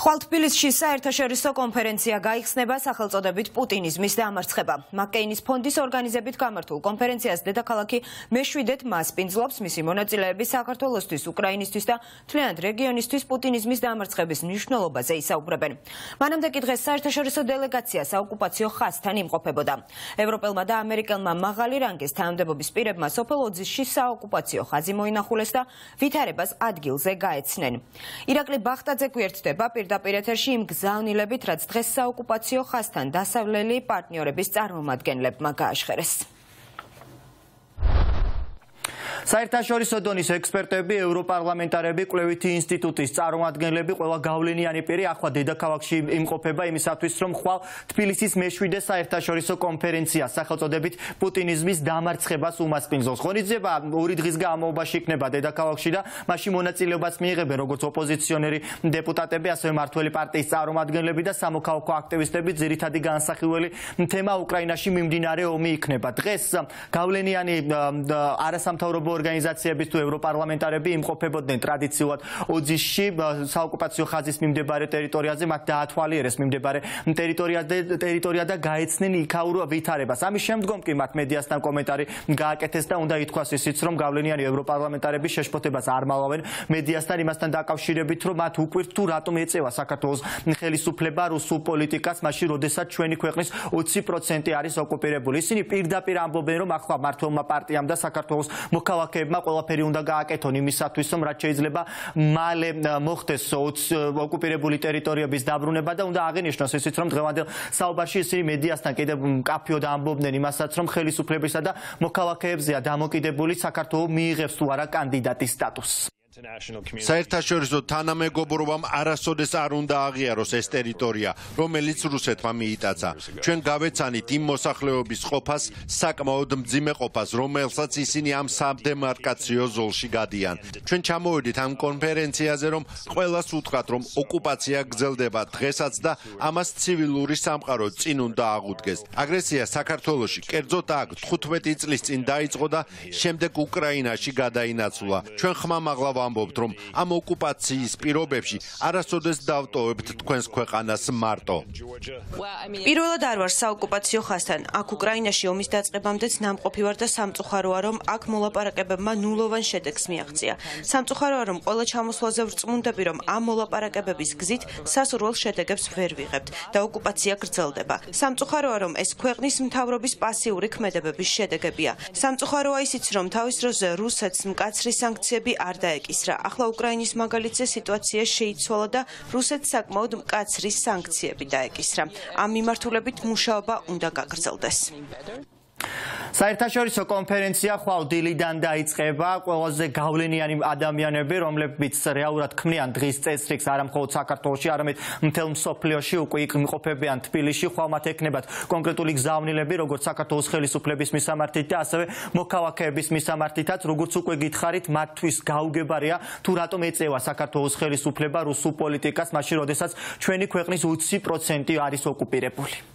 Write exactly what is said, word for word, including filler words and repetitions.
ხვალ თბილისში საერთაშორისო კონფერენცია გაიხსნება სახელწოდებით პუტინიზმის დამარცხება. მაკკეინის ფონდის ორგანიზებით გამართულ კონფერენციას დედაქალაქი მეშვიდეთ მასპინძლობს. მისი მონაწილეები საქართველოსთვის, უკრაინისთვის და მთლიანად რეგიონისთვის პუტინიზმის დამარცხების მნიშვნელობაზე ისაუბრებენ. მანამდე კი დღეს საერთაშორისო დელეგაცია საოკუპაციო ხაზთან იმყოფებოდა. ევროპელმა და ამერიკელმა მაღალი რანგის თანამდებობის პირებმა სოფელ ოძისში საოკუპაციო ხაზი მოინახულეს და ვითარებას ადგილზე გაეცნენ. ირაკლი ბახტაძე გვერდდება პირდაპირ ეთერში იმ გზავნილებით, რაც დღეს საოკუპაციო ხაზთან დასავლელი პარტნიორების წარმომადგენლებმა გააშხერეს. საერთაშორისო დონის ექსპერტები, ევროპარლამენტარები, კვლევითი ინსტიტუტის წარმომადგენლები, ყველა გავლენიანი პირი ახლა დედაქალაქში იმყოფება იმისათვის, რომ ხვალ თბილისის მეშვიდე საერთაშორისო კონფერენცია სახელწოდებით პუტინიზმის დამარცხებას უმასპინძლოს. ღონისძიება ორი დღის განმავლობაში იქნება დედაქალაქში და მასში მონაწილეობას მიიღებენ როგორც ოპოზიციონერი დეპუტატები, ასევე მმართველი პარტიის წარმომადგენლები და სამოქალაქო აქტივისტები. ძირითადი განსახილველი თემა უკრაინაში მიმდინარე ომი იქნება. დღეს გავლენიანი არასამთავრობო ორგანიზაციების თუ ევროპარლამენტარები იმყოფებოდნენ ტრადიციულად ოძისში, საოკუპაციო ხაზის მიმდებარე ტერიტორიაზე, მათ დაათვალიერეს მიმდებარე ტერიტორია და გაეცნენ იქაურ ვითარებას. ამის შემდგომ კი მათ მედიასთან კომენტარი გააკეთეს და უნდა ითქვას ისიც, რომ გავლენიანი ევროპარლამენტარები შეშფოთებას არ მალავენ მედიასთან იმასთან დაკავშირებით, რომ მათ უკვირთ თუ რატომ ეწევა საქართველოს ხელისუფლება რუსულ პოლიტიკას, მაშინ როდესაც ჩვენი ქვეყნის ოცი პროცენტი არის ოკუპირებული. ისინი პირდაპირ ამბობენ, რომ ახლა მმართველმა პარტიამ და საქართველოს მოქალაქეებმა ყველაფერი უნდა გააკეთონ იმისათვის, რომ რაც შეიძლება მალე მოხდეს ოკუპირებული ტერიტორიების დაბრუნება და უნდა აღინიშნოს ისიც, რომ დღევანდელ საუბარში ისინი მედიასთან კიდევ მკაფიოდ ამბობდნენ იმასაც, რომ ხელისუფლებისა და მოქალაქეებზეა დამოკიდებული საქართველო მიიღებს თუ არა კანდიდატის სტატუსს. საერთაშორისო თანამეგობრობამ არასოდეს არ უნდა აღიაროს ეს ტერიტორია, რომელიც რუსეთმა მიიტაცა. ჩვენ გავეცანით იმ მოსახლეობის ყოფას, საკმაოდ მძიმე ყოფას, რომელსაც ისინი ამ სადემარკაციო ზოლში გადიან. ჩვენ ჩამოვედით ამ კონფერენციაზე, რომ ყველას უთხრათ, რომ ოკუპაცია გრძელდება დღესაც და ამას ცივილური სამყარო წინ უნდა აღუდგეს. აგრესია საქართველოში, კერძოდ აქ თხუთმეტი წლის წინ დაიწყო და შემდეგ უკრაინაში გადაინაცვლა. ჩვენ ხმამაღლა ვამბობთ, რომ ამ ოკუპაციის პირობებში არასოდეს დავტოვებთ თქვენს ქვეყანას მარტო. პირველად არ ვარ საოკუპაციო ხაზთან. აქ უკრაინაში ომის დაწყებამდეც ნამყოფი ვარ და სამწუხაროა, რომ აქ მოლაპარაკებებმა ნულოვან შედეგს მიაღწია. სამწუხაროა, რომ ყველა ჩამოსვლაზე ვრწმუნდები, რომ ამ მოლაპარაკებების გზით სასურველ შედეგებს ვერ ვიღებთ და ოკუპაცია გრძელდება. სამწუხაროა, რომ ეს ქვეყნის მთავრობის პასიური ქმედებების შედეგებია. სამწუხაროა ისიც, რომ თავის დროზე რუსეთს მკაცრი სანქციები არ დაეკისრა. ახლა უკრაინის მაგალითზე სიტუაცია შეიცვალა და რუსეთს საკმაოდ მკაცრი სანქციები დაეკისრა. ამ მიმართულებით მუშაობა უნდა გაგრძელდეს. საერთაშორისო კონფერენცია ხვალ დილიდან დაიწყება. ყველაზე გავლენიანი ადამიანები, რომლებიც რეალურად ქმნიან დღის წესრიგს არა მხოლოდ საქართველოში, არამედ მთელ მსოფლიოში უკვე იმყოფებიან თბილისში. ხვალ მათ ექნებათ კონკრეტული გზავნილები, როგორც საქართველოს ხელისუფლების მისამართით და ასევე მოქალაქეების მისამართითაც. როგორც უკვე გითხარით, მათთვის გაუგებარია თუ რატომ ეწევა საქართველოს ხელისუფლება რუსულ პოლიტიკას, მაშინ როდესაც ჩვენი ქვეყნის ოცი პროცენტი არის ოკუპირებული.